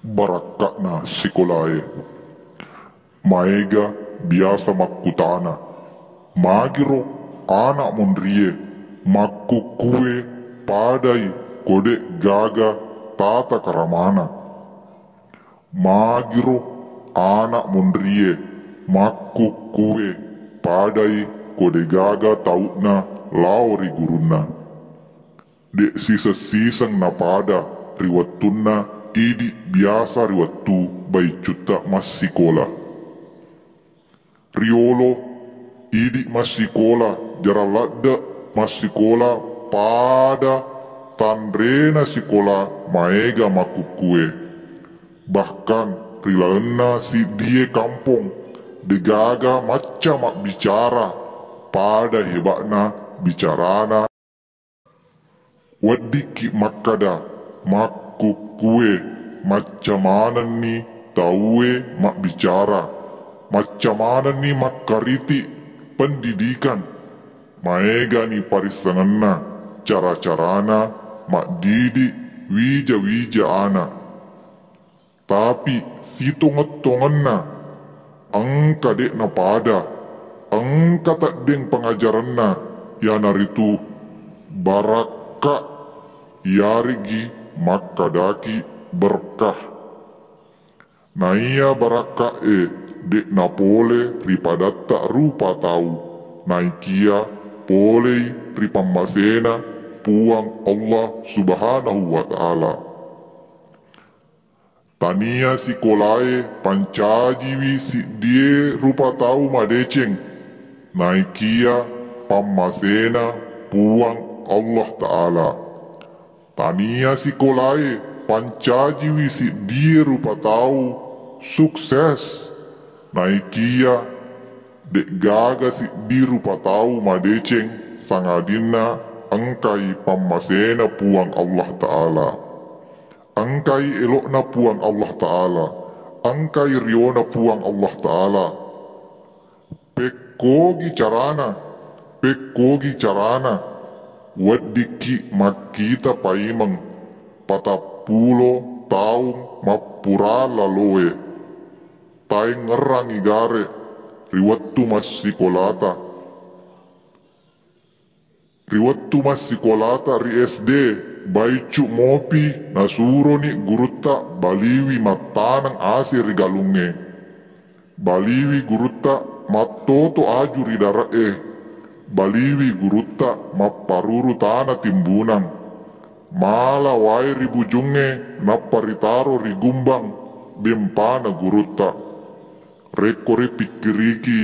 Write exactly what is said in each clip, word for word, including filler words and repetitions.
Barakka'na sikolaé. Maéga biasa makkutana, magiro ana' monrié makkukkué padai ko dé' gaga tata karamana. Magiro ana' monrié makkukkué padai ko dé' gaga tau'na lao ri gurunna. Dé' siseng-siseng napada ri wettunna idi' biasa ri wettu baicutta massikola. Riolo idi' massikola jarang ladde' massikola pada tanréna sikola maéga makkukkué. Bahkan ri lalenna siddié kampong dé'gaga macca mabbicara pada héba'na bicarana. Weddikki makkada makkukkué macca manenni tauwé mabbicara, macca manenni makkariti' pendidikan, maégani parissengenna cara-carana maddidi' wija-wija ana'. Tapi sitongeng-tongenna engka dé' napada, engka teddéng pangajarenna, iyanaritu barakka', iyaré'gi makkadaki berkah. Naiya barakka'é dé' napolé ri padatta rupa tau, naikia poléi ri pammaséna Puang Allah Subhanahu wa Ta'ala. Tania sikolaé pancajiwi siddié rupa tau madécéng, naikia pammaséna Puang Allah Ta'ala. Tania sikolaé pancajiwi siddié rupa tau sukses, naikia dé'gaga siddi rupa tau madécéng sangadinna engkai pammaséna Puang Allah Ta'ala. Engkai élo'na Puang Allah Ta'ala, engkai riona Puang Allah Ta'ala. Pékkogi carana, pékkogi carana, weddikki makkita paimeng patappulo taung mappura laloé. Taéngngerangngi garé' ri wettu massikolata. Ri wettu massikolata ri S D, baiccu' mopi nasuroni gurutta baliwi mattaneng asé ri galungngé. Baliwi gurutta mattoto aju ri dare'é. Baliwi gurutta mapparuru tana timbunang. Mala waé ri bujungngé nappa ritaro ri gumbang démpana gurutta. Rékko ripikkiriki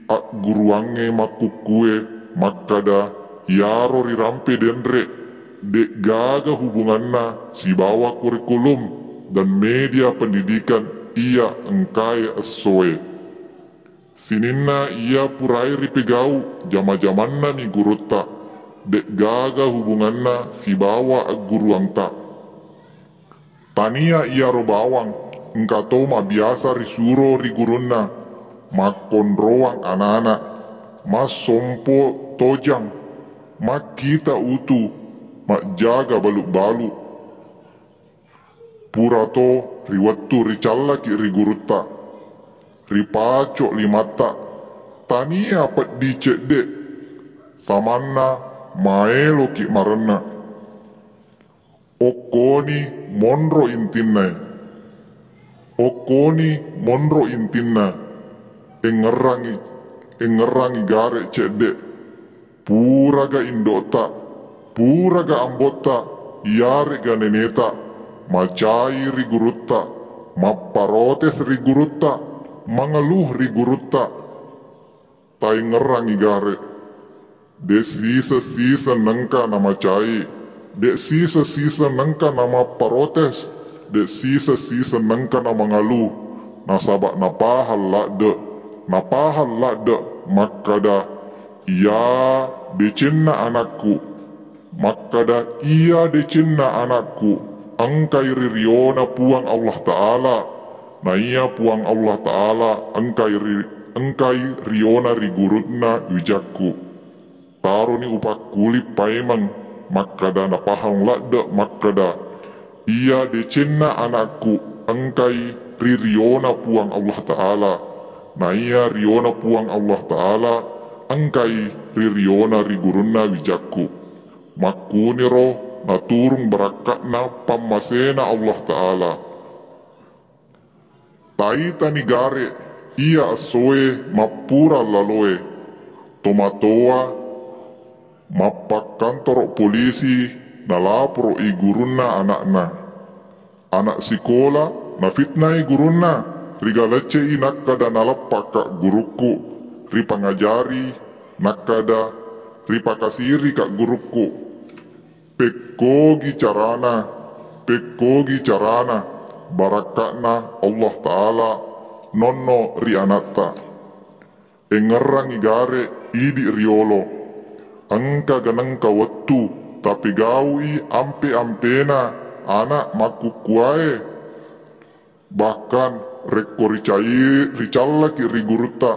agguruwangngé makkukkué makkada iyaro rirampé dénré dé'gaga hubunganna sibawa kurikulum dan média pendidikan iya engkaé essoé. Sininna iya puraé ripégau jama-jamannami gurutta, dé'gaga hubunganna sibawa agguruwangta. Tania iyaro bawang engkato mabiasa risuro ri gurunna, makkonrowang anana', massompo tojang, makkita utu, majjaga balu'-balu'. Purato ri wettu ricallaki' ri gurutta, ripaco' limatta, tania peddi cedde', samanna maéloki' marenna'. Okkoni monro intinnaé. Okkoni monro intinna. Engngerangngi, engngerangngi gare' cedde'. Puraga indo'ta, puraga ambotta, iyare'ga neneta, macai ri gurutta, mapparotes ri gurutta, mangeluh ri gurutta. Taengngerangngi gare'. De' siseng-siseng nengka namacai, de' siseng-siseng nengka namapparotes, de' siseng-siseng nengka namangalu, nasaba' napahang ladde', napahang ladde' makkada, iya decenna anakku, makkada, iya decenna anakku, engkai ri riona Puang Allah Ta'ala, naiya Puang Allah Ta'ala engkai ri, engkai riona ri gurunna wijakku. Taroni upakkuli paimeng makkada napahang ladde' makkada, iya decenna anakku, engkai ri riona Puang Allah Ta'ala, naiya riona Puang Allah Ta'ala engkai ri riona ri gurunna wijakku. Makkuniro naturung barakka'na pammasena Allah Ta'ala. Taitani gare iya essoe mappura laloe. Tomatoa mappakkantoro polisi nalaporo'i gurunna ana'na. Ana' sikola nafitnai gurunna, rigalecce'i nakkada nalappakka gurukku, ripangajari nakkada ripakasirika gurukku. Pekkogi carana, pekkogi carana barakka'na Allah Ta'ala nonno ri anatta. Engngerangngi gare idi riolo. Engka ganengka wettu tapegau'i ampe-ampena ana' makkukkuae. Bahkan rekko ricai-, ricallaki ri gurutta,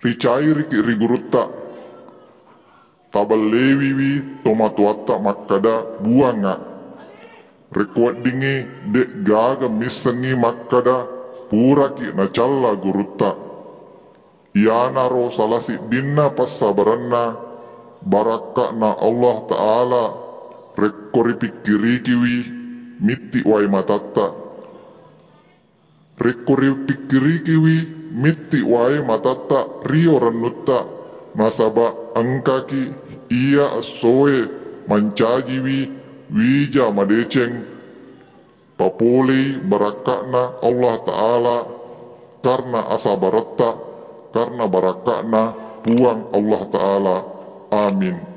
ricairiki ri gurutta, taballewiwi tomatoatta makkada buangnga. Rekko weddingngi de'gaga missengngi makkada puraki nacalla gurutta. Iyanaro sala siddinna passabarenna barakka'na Allah Ta'ala rekko ripikkirikiwi mitti wae matatta. Rekko ripikkirikiwi mitti wae matatta rio rennutta, nasaba engkaki iya essoe mancajiwi wija madeceng. Papolei barakka'na Allah Ta'ala karna asabaretta, karna barakka'na Puang Allah Ta'ala. Amin.